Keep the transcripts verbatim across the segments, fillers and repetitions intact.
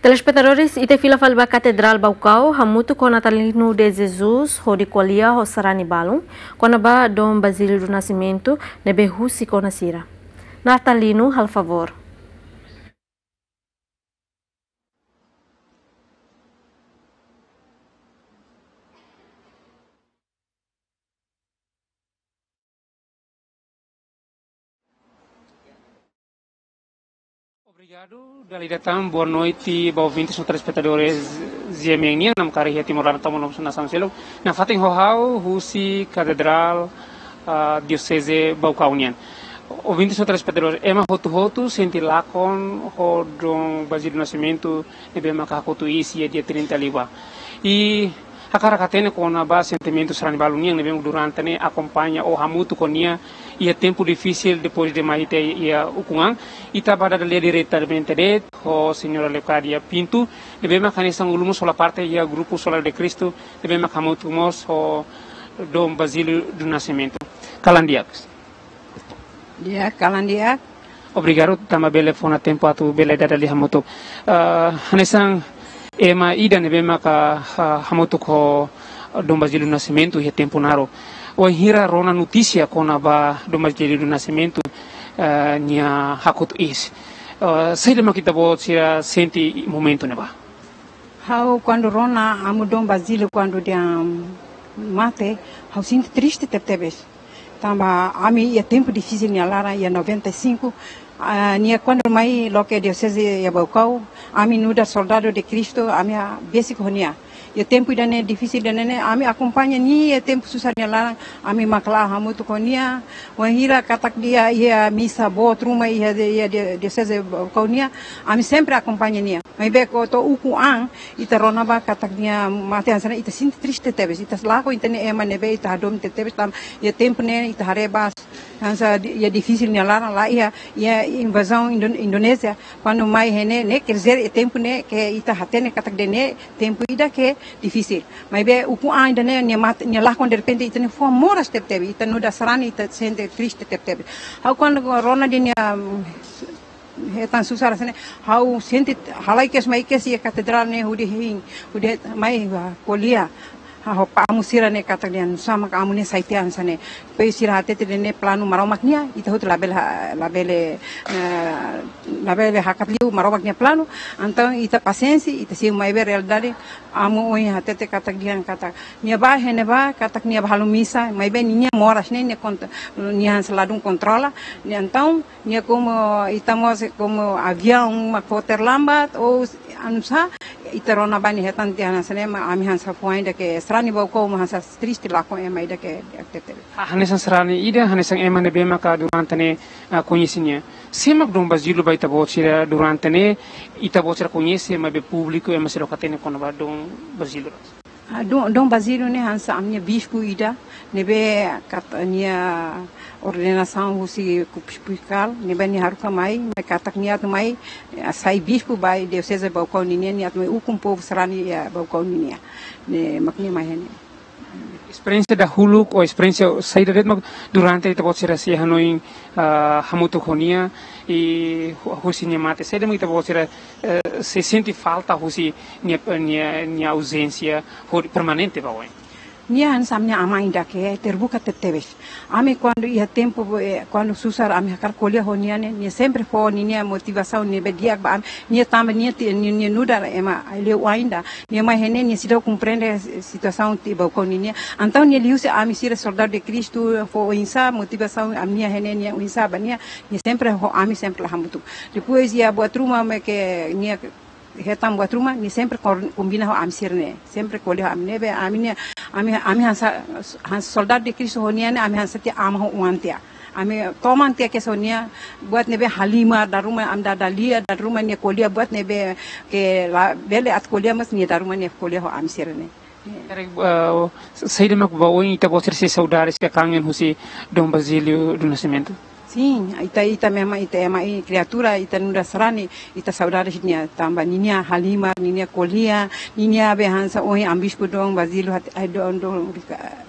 Telespetadores, ita fila fali ba Katedrál Baucau, hamutuk ho Natalino de Jesus, hodi ko'alia ho sarani balun kona-ba Dom Basílio do Nascimento, ne'ebé husik ona sira. Natalino, halo favór. Obrigadu, dala ida tan, boa noite ba ouvintes no telespetadores G M N nian, namkari iha Timor laran tomak no nasaun seluk. Nafatin ho ha'u husi Katedrál, ah, Dioseze Baucau nian. Ouvintes no telespetadores, ema hotu-hotu sente lakon ho Dom Basílio Nascimento ne'ebé maka hakotu iis iha dia trinta liubá. I hakarak hatene kona-ba sentimentu sarani balun nian ne'ebé durante ne'e akompaña ou hamutuk ho nia iha tempu difisil depois de mai ita iha ukun an. Ita bá dada lia diretamente de'it ho Señora Leocádia Pinto, ne'ebé maka hanesan ulun mós hola parte iha grupu Solar de Cristo, ne'ebé maka hamutuk mós ho Dom Basílio do Nascimento. Kalan di'ak. Di'ak, kalan di'ak. Obrigadu tanba bele fó ona tempu atu bele dada lia hamutuk. Ah, hanesan ema ida ne'ebé maka, ah, hamutuk ho Dom Basílio Nascimento iha tempu naruk. Wainhira rona notísia kona-ba Dom Basílio Nascimento, ah, nia hakotu iis. Ah, saida mak ita-boot sira sente momentu ne'ebá? Ha'u kuandu rona amu Dom Basílio kuandu nia mate, ha'u sente triste tebetebes. Tanba ami iha tempu difisil nia laran iha noventa e cinco, ah, nia kuandu mai loke dioseze iha Baucau, ami nu'udar soldadu de Kristu, ami besik ho nia. Iha tempu ida-ne'e difisil ida-ne'e, ami akompaña nia iha tempu susar nia laran, ami mak la'o hamutuk ho nia, wainhira katak nia iha misa boot ruma iha, iha dioseze Baucau nian, ami sempre akompaña nia. Maibé kuandu to'o ukun an, ita rona ba katak nia mate hanesan ne'e ita sente triste tebes. Ita lakon ita-nia ema ne'ebé ita hadomi tebetebes tanba iha tempu ne'e ita haree ba hanesan di-, iha difisil nia laran la iha, iha invazaun Indo-, Indonézia. Kuandu mai iha ne'e, ne'e quer dizer iha tempu ne'e ke ita hatene katak ida-ne'e tempu ida ke difisil. Maibé ukun an ida-ne'e nia mate, nia lakon derrepente ita-nia fuan moras tebetebes. Ita nu'udar sarani ita sente triste tebetebes. Ha'u kuandu rona de'it nia, mm, hetan susar hanesan ne'e, ha'u sente halai kedas mai kedas iha katedrál ne'e hodi hein, hodi mai, ah, ko'alia. Ha'u ho amu sira ne'e katak dehan nusá mak amu ne'e sai tiha hanesan ne'e. Depois sira hatete dehan ne'e planu Maromak nian, ita hotu labele ha-, labele, eh, labele hakat liu Maromak nia planu. Entaun ita pasiénsia, ita simu maibé realidade, amu ohin hatete katak dehan katak nia bá iha ne'ebá, katak nia bá halo misa, maibé ninia moras ne'e, nia kont-, nia hanesan ladún kontrola. Nia entaun, nia komu ita mós komu aviaun mak fó terlambat, ou s-, anu sá, ita rona ba nia hetan tiha hanesan ne'e, mak ami hanesan fuan ida ke sarani Baucau mak hanesan triste lakon ema ida ke, ke tebetebes. Ha-, hanesan sarani ida, hanesan ema ne'ebé maka durante ne'e, ah, koñese nia. Sé mak Dom Basílio ba ita-boot sira durante ne'e, ita-boot sira koñese, maibé públiku ema sira la hatene kona-ba Dom Basílio. Ah, Dom, Dom Basílio ne'e hanesan ami-nia bispu ida, ne'ebé katak nia ordenasaun husi Episkopál, ne'ebé nia haruka mai, mai katak nia atu mai, eh, sai bispu ba dioseze Baucau ninian, nia atu mai ukun povu sarani iha Baucau ninian. Ne'e mak nia mai iha ne'e. Esperiénsia dahuluk, ou esperiénsia saida de'it mak durante ita-boot sira sei hanoin, ah, hamutuk ho nia, i hu-, husi nia mate, saida mak ita-boot sira, eh, sei sente falta husi nia, nia, nia auzénsia, hodi permanente ba oin. Nia hanesan ami-nia aman ida ke terbuka tebetebes. Ami kuandu iha tempu, eh, kuandu susar ami hakarak ko'alia ho nia ne'e, nia sempre fó ninia motivasaun ne'ebé di'ak ba ami, nia tanba nia ti-, nia, nia nu'udar ema liu ainda. Nia mai iha ne'e, nia seidauk komprende situasaun iha Baucau ninian. Entaun nia liuhusi ami sira soldadu de Kristu, fó oinsá motivasaun ami-nia iha ne'e, nia oinsá ba nia, nia sempre ho ami sempre la hamutuk. Depois iha buat ruma mak nia hetan buat ruma, nia sempre kor-, kombina ho ami sira-ne'e. Sempre ko'alia ho ami ne'ebé, ami-nia, ami, ami hanesan, hanesan soldadu de Kristu ho nia ne'e, ami hanesan tiha aman ho oan tiha. Ami toman tiha kedas ho nia, buat ne'ebé halimar dala ruma, ami dada lia, dala ruma nia ko'alia buat ne'ebé ke labele atu ko'alia, mas nia dala ruma nia ko'alia ho ami sira-ne'e. Karik, eh, saida mak ba oin ita-boot sira sei saudades ka kangen husi Dom Basílio do Nascimento? Sin, ita, ita memang ita ema i kriatura, ita nu'udar sarani, ita saudades nia tanba ninia halimar, ninia ko'alia, ninia be hanesan ohin amu bispu Dom Basílio hat-, ai, Dom, Dom, Rica-,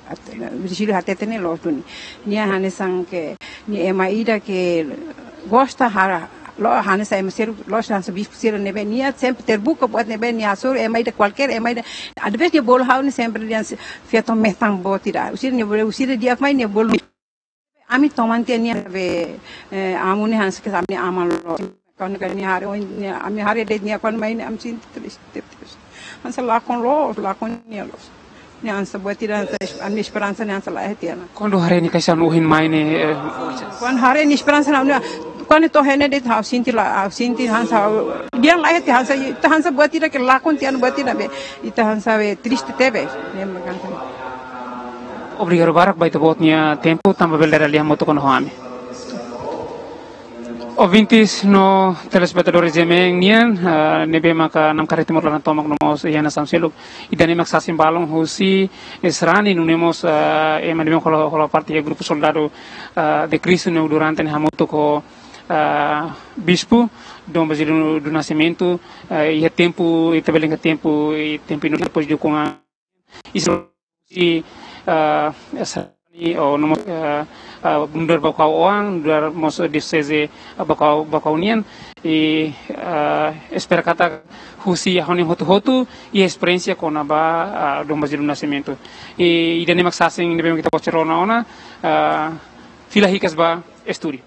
At-, Virgílio hatete ne'e loos duni. Nia hanesan ke, nia ema ida ke gosta hara, Loos, hanesan ema sira, loos, hanesan bispu sira ne'ebé nia sempre terbuka buat ne'ebé nia hasoru ema ida kualkér, ema ida. Às vezes nia bolu ha'u ne'e sempre nia feto metan boot ida. Husi nia bolu, husi di'ak mai nia bolu. Ami toman tiha nia be, eh, amu ne'e hanesan ke ami aman loos. Kuandu ke nia haree, oh, nia, ami haree de'it nia kuandu mai ne'e ami sente triste, triste. Hanesan lakon loos, lakon nia loos. Nia hanesan buat ida, hanesan es-, ami esperansa nia hanesan laiha tiha ona. Kuandu haree nia kaixan ohin mai ne'e, eh, kuandu haree nia esperansa ne'e, nia, kuandu to'o iha ne'e de'it ha'u sente la, ha'u sente hanesan, dehan laiha tiha hanesan, ita hanesan buat ida ke lakon tiha ona buat ida be, ita hanesan be triste tebes. Ne'e mak hanesan. Obrigadu barak ba ita-boot nia tempu, tanba bele dada lia hamutuk ho ami. Ouvintes no telespetadores G M N nian, ah, ne'ebé maka namkari Timor laran tomak no mós iha nasaun seluk. Ida-ne'e mak sasin balun husi sarani nune'e mós, ah, ema ne'ebé hola, hola parte iha grupu Soldadu, ah, de Kristu ne'e durante ne'e hamutuk ho, ah, Bispu Dom Basílio do Nascimento, ah, iha tempu, ita bele dehan tempu, iha tempu inus depois de com a, i, ah, sarani, ou no mós, ah, ah, nu'udar Baucau oan, nu'udar mós dioseze, ah, Baucau, Baucau nian, i, ah, espera katak husi ha'u-nia hotu-hotu, i esperiénsia kona-ba, ah, Dom Basílio do Nascimento. I, ida-ne'e mak sasin ne'ebé ita bele rona ona, ah, fila hikas ba estúdiu.